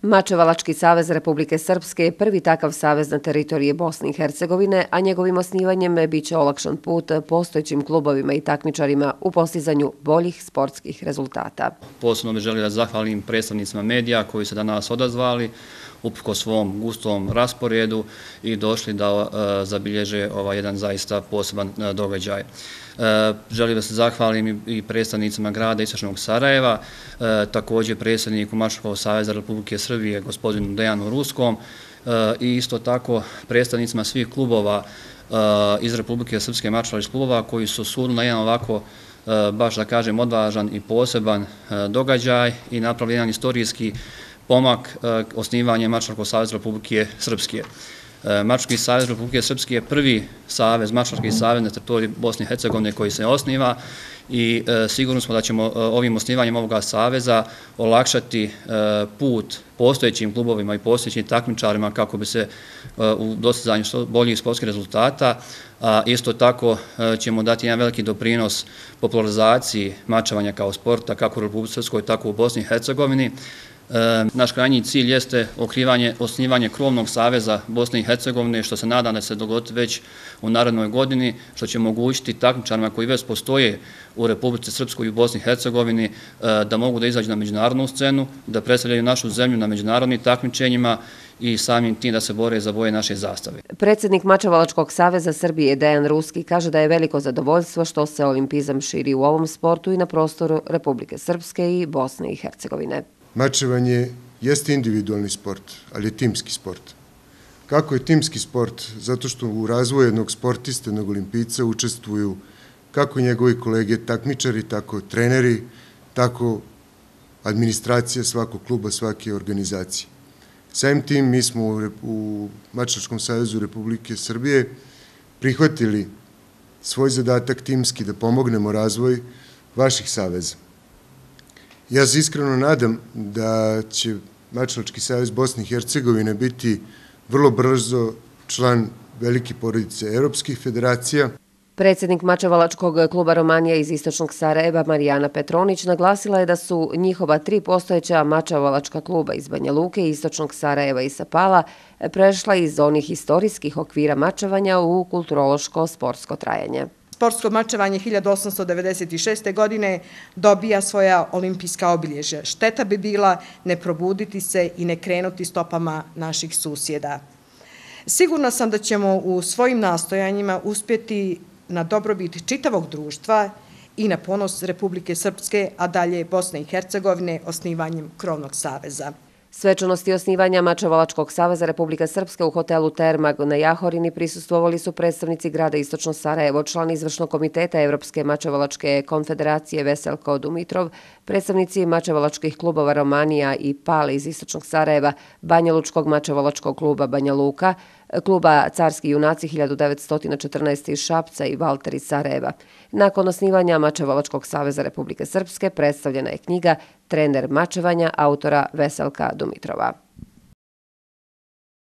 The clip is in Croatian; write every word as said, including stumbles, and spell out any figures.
Mačevalački savez Republike Srpske je prvi takav savez na teritoriji Bosne i Hercegovine, a njegovim osnivanjem biće olakšan put postojećim klubovima i takmičarima u postizanju boljih sportskih rezultata. Posebno bih želio da zahvalim predstavnicima medija koji se danas odazvali uprkos svom gustom rasporedu i došli da zabilježe ovaj jedan zaista poseban događaj. Želim da se zahvalim i predstavnicima grada Istočnog Sarajeva, također predsjedniku Mačevačkog saveza Republike Srbije, gospodinu Dejanu Ruskom, i isto tako predstavnicima svih klubova iz Republike Srpske, mačevalačkih klubova koji su sudili na jedan ovako, baš da kažem, odvažan i poseban događaj i napravili jedan istorijski pomak osnivanja Mačevačkog saveza Republike Srpske. Mačevački savez Republike Srpske je prvi savez, mačevački savez na teritoriji Bosne i Hercegovine koji se osniva i sigurno smo da ćemo ovim osnivanjem ovoga saveza olakšati put postojećim klubovima i postojećim takmičarima kako bi se u dostizanju boljih sportskih rezultata, a isto tako ćemo dati jedan veliki doprinos popularizaciji mačevanja kao sporta kako u Republike Srpskoj, tako u Bosni i Hercegovini. Naš krajnji cilj jeste osnivanje krovnog saveza Bosne i Hercegovine, što se nadam da se dogodi već u narednoj godini, što će omogućiti takmičarima koji već postoje u Republici Srpskoj i u Bosni i Hercegovini da mogu da izađu na međunarodnu scenu, da predstavljaju našu zemlju na međunarodnim takmičenjima i samim tim da se bore za boje naše zastave. Predsjednik Mačevalačkog saveza Srbije Dejan Ruski kaže da je veliko zadovoljstvo što se olimpizam širi u ovom sportu i na prostoru Republike Srpske i Bosne i Hercegovine. Mačevanje jeste individualni sport, ali je timski sport. Kako je timski sport? Zato što u razvoju jednog sportista, jednog olimpijca učestvuju kako njegovi kolege takmičari, tako treneri, tako administracija svakog kluba, svake organizacije. Samim tim mi smo u Mačevačkom savezu Republike Srbije prihvatili svoj zadatak timski da pomognemo razvoj vaših saveza. Ja se iskreno nadam da će Mačevački savez Bosne i Hercegovine biti vrlo brzo član velike porodice evropskih federacija. Predsjednik Mačevalačkog kluba Romanija iz Istočnog Sarajeva Marijana Petronić naglasila je da su njihova tri postojeća mačevalačka kluba iz Banja Luke, Istočnog Sarajeva i Sapala prešla iz onih historijskih okvira mačevanja u kulturološko-sportsko trajanje. Sportsko mačevanje hiljadu osamsto devedeset šeste. godine dobija svoja olimpijska obilježja. Šteta bi bila ne probuditi se i ne krenuti stopama naših susjeda. Sigurna sam da ćemo u svojim nastojanjima uspjeti na dobrobit čitavog društva i na ponos Republike Srpske, a dalje Bosne i Hercegovine osnivanjem krovnog saveza. Svečanosti osnivanja Mačevalačkog saveza Republike Srpske u hotelu Termag na Jahorini prisustvovali su predstavnici grada Istočno Sarajevo, član izvršnog komiteta Evropske mačevalačke konfederacije Veselko Dumitrov, predstavnici mačevalačkih klubova Romanija i Pale iz Istočnog Sarajeva, Banjalučkog mačevalačkog kluba Banja Luka, kluba Carski junaci hiljadu devetsto četrnaeste. iz Šapca i Valter iz Sarajeva. Nakon osnivanja Mačevalačkog saveza Republike Srpske predstavljena je knjiga Trener mačevanja autora Veselka Dumitrova.